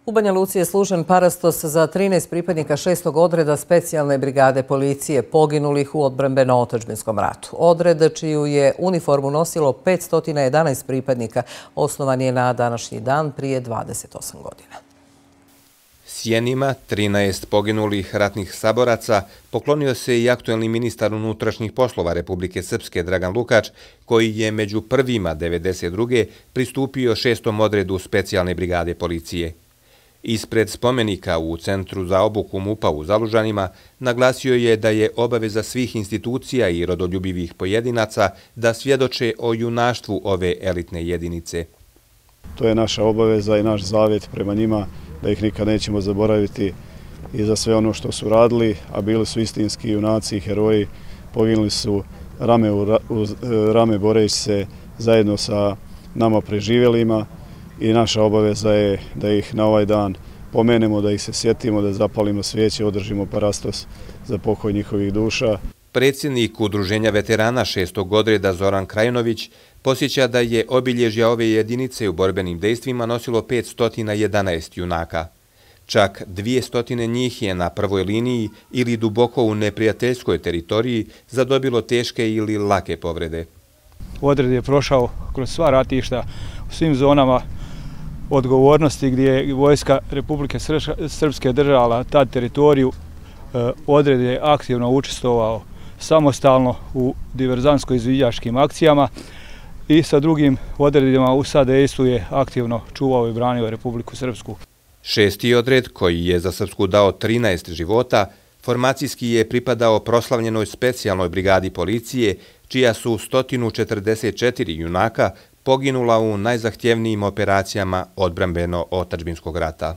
U Banja Luci je služen parastos za 13 pripadnika 6. odreda specijalne brigade policije poginulih u odbrambeno-otadžbinskom ratu. Odred, čiju je uniformu nosilo 511 pripadnika, osnovan je na današnji dan prije 28 godina. Sjenima 13 poginulih ratnih saboraca poklonio se i aktuelni ministar unutrašnjih poslova Republike Srpske Dragan Lukač, koji je među prvima 92. pristupio 6. odredu specijalne brigade policije. Ispred spomenika u Centru za obuku MUP-a u Zalužanima naglasio je da je obaveza svih institucija i rodoljubivih pojedinaca da svjedoče o junaštvu ove elitne jedinice. To je naša obaveza i naš zavjet prema njima, da ih nikad nećemo zaboraviti i za sve ono što su radili, a bili su istinski junaci i heroji, poginuli su rame uz rame boreći se zajedno sa nama preživjelima i naša obaveza je da ih na ovaj dan pomenemo, da ih se sjetimo, da zapalimo svijeće, održimo parastos za pokoj njihovih duša. Predsjednik Udruženja veterana 6. odreda Zoran Krajinović posjeća da je obilježja ove jedinice u borbenim dejstvima nosilo 511 junaka. Čak 200 njih je na prvoj liniji ili duboko u neprijateljskoj teritoriji zadobilo teške ili lake povrede. Odred je prošao kroz sva ratišta u svim zonama odgovornosti gdje je vojska Republike Srpske držala tad teritoriju. Odred je aktivno učestvovao samostalno u diverzantsko-izviđačkim akcijama i sa drugim odredima u sadejstvu je aktivno čuvao i branio Republiku Srpsku. 6. odred, koji je za Srpsku dao 13 života, formacijski je pripadao proslavljenoj specijalnoj brigadi policije, čija su 144 junaka poginula u najzahtjevnijim operacijama odbrambeno-otadžbinskog rata.